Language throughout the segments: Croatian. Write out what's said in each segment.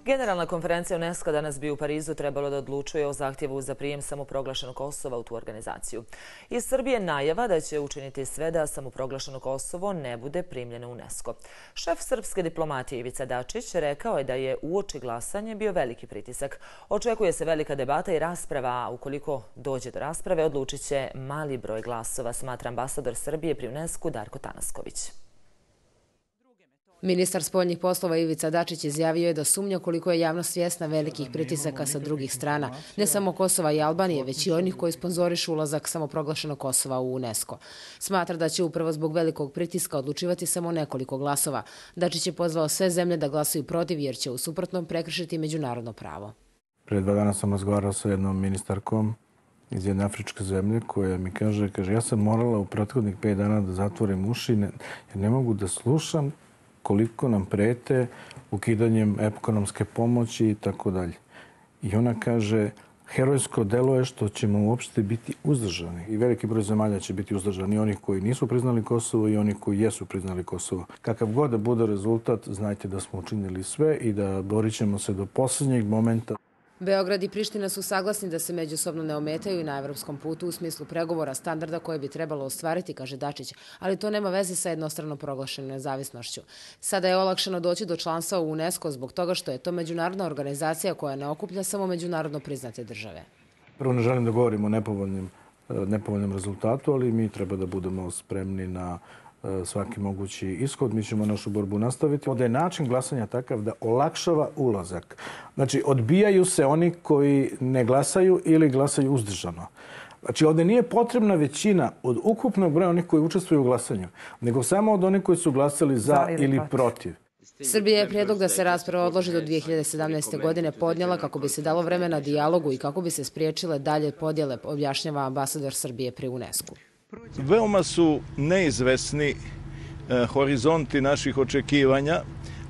Generalna konferencija UNESCO danas bi u Parizu trebalo da odlučuje o zahtjevu za prijem samoproglašenog Kosova u tu organizaciju. Iz Srbije najava da će učiniti sve da samoproglašeno Kosovo ne bude primljeno u UNESCO. Šef srpske diplomatije Ivica Dačić rekao je da je uoči glasanja bio veliki pritisak. Očekuje se velika debata i rasprava, a ukoliko dođe do rasprave odlučit će mali broj glasova, smatra ambasador Srbije pri UNESCO Darko Tanasković. Ministar spoljnih poslova Ivica Dačić izjavio je da sumnja koliko je javnost svjesna velikih pritisaka sa drugih strana, ne samo Kosova i Albanije, već i onih koji sponzorišu ulazak samoproglašenog Kosova u UNESCO. Smatra da će upravo zbog velikog pritiska odlučivati samo nekoliko glasova. Dačić je pozvao sve zemlje da glasuju protiv jer će u suprotnom prekršiti međunarodno pravo. Prije 2 dana sam razgovarao sa jednom ministarkom iz jedne afričke zemlje koja mi kaže ja sam morala u prethodnih 5 dana da zatvorim uši jer ne mogu da slušam koliko nam prete ukidanjem ekonomske pomoći i tako dalje. I ona kaže, herojsko delo je što ćemo uopšte biti uzdržani. I veliki broj zemalja će biti uzdržani, oni koji nisu priznali Kosovo i oni koji jesu priznali Kosovo. Kakav god da bude rezultat, znajte da smo učinili sve i da borit ćemo se do posljednjeg momenta. Beograd i Priština su saglasni da se međusobno ne ometaju na evropskom putu u smislu pregovora standarda koje bi trebalo ostvariti, kaže Dačić, ali to nema veze sa jednostrano proglašenom nezavisnošću. Sada je olakšano doći do članstva u UNESCO zbog toga što je to međunarodna organizacija koja ne okuplja samo međunarodno priznate države. Prvo ne želim da govorim o nepovoljnom rezultatu, ali mi treba da budemo spremni na svaki mogući ishod. Mi ćemo našu borbu nastaviti. Ovdje je način glasanja takav da olakšava ulazak. Znači, odbijaju se oni koji ne glasaju ili glasaju uzdržano. Znači, ovdje nije potrebna većina od ukupnog broja onih koji učestvuju u glasanju, nego samo od onih koji su glasali za ili protiv. Srbija je prijedlog da se rasprava odloži do 2017. godine podnijela kako bi se dalo vremena dijalogu i kako bi se spriječile dalje podjele, objašnjava ambasador Srbije pri UNESCO. Veoma su neizvesni horizonti naših očekivanja.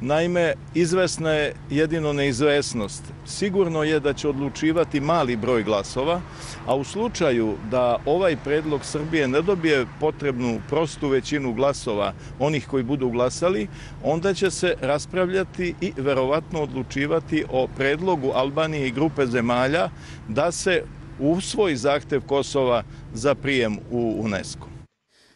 Naime, izvesna je jedino neizvesnost. Sigurno je da će odlučivati mali broj glasova, a u slučaju da ovaj predlog Srbije ne dobije potrebnu prostu većinu glasova onih koji budu glasali, onda će se raspravljati i verovatno odlučivati o predlogu Albanije i grupe zemalja da se usvoji zahtev Kosova za prijem u UNESCO.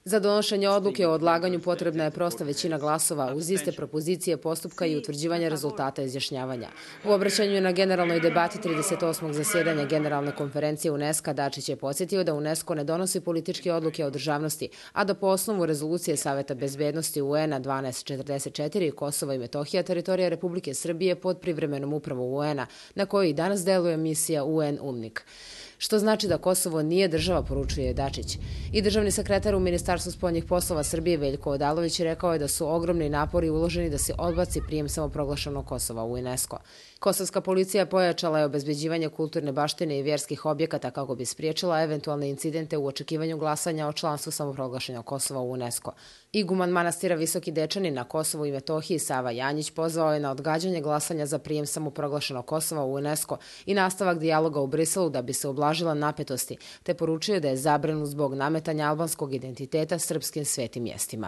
Za donošenje odluke o odlaganju potrebna je prosta većina glasova uz iste propozicije postupka i utvrđivanja rezultata izjašnjavanja. U obraćanju na generalnoj debati 38. zasjedanja Generalne konferencije UNESCO Dačić je podsjetio da UNESCO ne donosi političke odluke o državnosti, a da po osnovu rezolucije Saveta bezbednosti UN-a 1244 Kosova i Metohija teritorija Republike Srbije pod privremenom upravom UN-a, na kojoj i danas deluje misija UN UNMIK. Što znači da Kosovo nije država, poručuje Dačić. I državni sekretar u Ministarstvu spoljnih poslova Srbije Veljko Odalović rekao je da su ogromni napori uloženi da se odbaci prijem samoproglašenog Kosova u UNESCO. Kosovska policija pojačala je obezbeđivanje kulturne baštine i vjerskih objekata kako bi spriječila eventualne incidente u očekivanju glasanja o članstvu samoproglašenog Kosova u UNESCO. Iguman manastira Visoki Dečani na Kosovu i Metohiji Sava Janjić pozvao je na odgađanje glasanja za prijem samoproglašenog Kosova u UNESCO i nastavak dijaloga u Briselu da bi se ublažila napetosti, te poručio da je zabrinut zbog nametanja albanskog identiteta srpskim svetim mjestima.